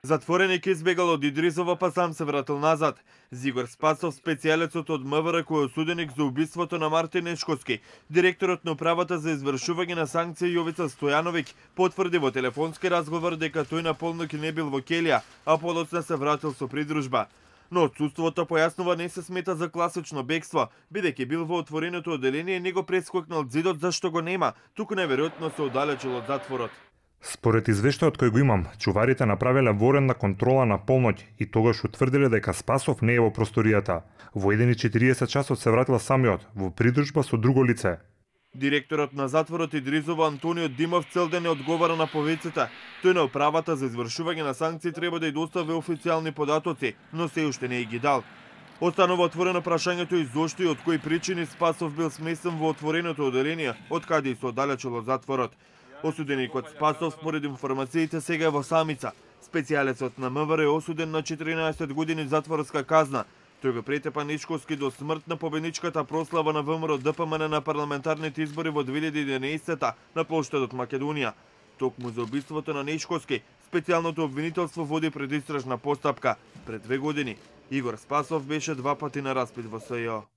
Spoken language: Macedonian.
Затвореник избегал од Идризово, па сам се вратил назад. Зигор Спасов, специјалецот од МВР кој е осуденик за убиството на Мартин Нешковски, директорот на управата за извршување на санкции Јовица Стојановиќ, потврди во телефонски разговор дека тој на полноќ не бил во Келија, а подоцна се вратил со придружба. Но отсуството, појаснува, не се смета за класично бегство, бидејќи бил во отвореното оделение и не го прескокнал зидот зашто го нема, туку неверојатно се оддалечил од затворот. Според извештајот кој го имам, чуварите направиле военна контрола на полноќ и тогаш утврдиле дека Спасов не е во просторијата. Во 1:40 часот се вратил самиот, во придружба со друго лице. Директорот на затворот Идризово Антонио Димов целден не одговара на повиците. Тој на управата за извршување на санкции треба да ја достави официјални податоци, но се уште не ги дал. Останува отворено прашањето и зошто и од кои причини Спасов бил сместен во отвореното оделение, од каде и се оддалечил од затворот. Осуденикот Спасов, според информациите, сега е во самица. Специјалецот на МВР е осуден на 14 години затворска казна. Тој го претепа Нешковски до смрт на победничката прослава на ВМРО ДПМН на парламентарните избори во 2011 на плоштадот Македонија. Токму за убиството на Нешковски, специјалното обвинителство води предистражна постапка. Пред 2 години Игор Спасов беше 2 пати на распит во СЈО.